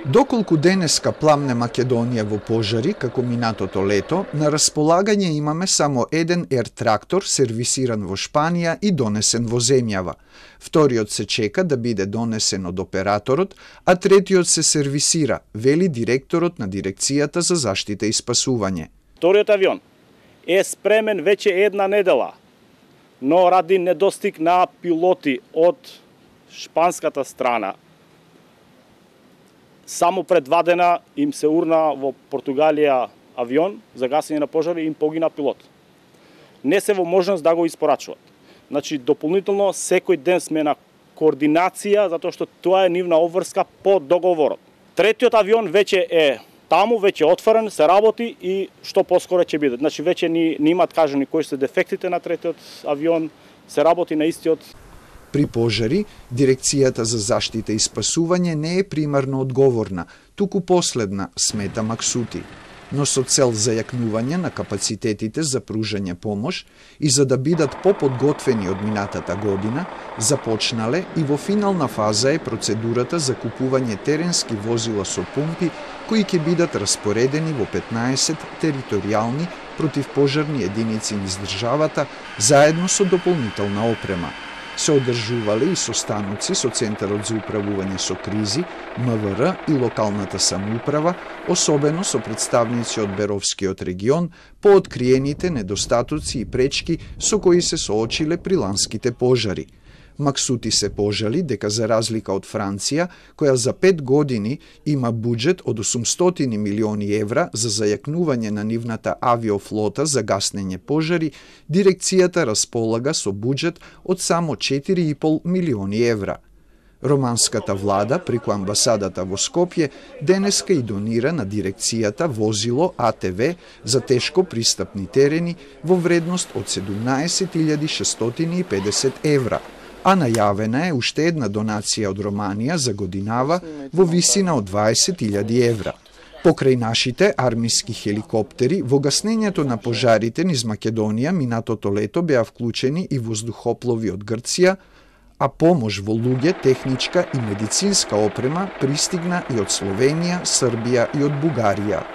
Доколку денеска пламне Македонија во пожари, како минатото лето, на располагање имаме само еден ер-трактор сервисиран во Шпанија и донесен во земјава. Вториот се чека да биде донесен од операторот, а третиот се сервисира, вели директорот на Дирекцијата за заштита и спасување. Вториот авион е спремен веќе една недела, но ради недостиг на пилоти од шпанската страна, само пред 2 дена им се урна во Португалија авион за гасење на пожари и им погина пилот. Не се во можност да го испорачуваат. Значи, дополнително секој ден сме на координација, затоа што тоа е нивна обврска по договорот. Третиот авион веќе е таму, веќе отворен, се работи и што поскоро ќе биде. Значи, веќе ни имаат кажани кои се дефектите на третиот авион, се работи на истиот. При пожари, Дирекцијата за заштита и спасување не е примарно одговорна, туку последна, смета Максути. Но со цел зајакнување на капацитетите за пружање помош и за да бидат поподготвени од минатата година, започнале и во финална фаза е процедурата за купување теренски возила со пумпи кои ќе бидат распоредени во 15 територијални противпожарни единици низ државата заедно со дополнителна опрема. Се одржувале и состаноци со Центарот за управување со кризи, МВР и локалната самоуправа, особено со представници од Беровскиот регион, по откриените недостатоци и пречки со кои се соочиле при ланските пожари. Максути се пожали дека за разлика од Франција, која за 5 години има буџет од 800 милиони евра за зајакнување на нивната авиофлота за гаснење пожари, дирекцијата располага со буџет од само 4,5 милиони евра. Романската влада, преку амбасадата во Скопје, денеска и донира на дирекцијата возило АТВ за тешко пристапни терени во вредност од 17.650 евра, а најавена е уште една донација од Романија за годинава во висина од 20.000 евра. Покрај нашите армиски хеликоптери, во гаснењето на пожарите низ Македонија минатото лето беа вклучени и воздухоплови од Грција, а помош во луѓе, техничка и медицинска опрема пристигна и од Словенија, Србија и од Бугарија.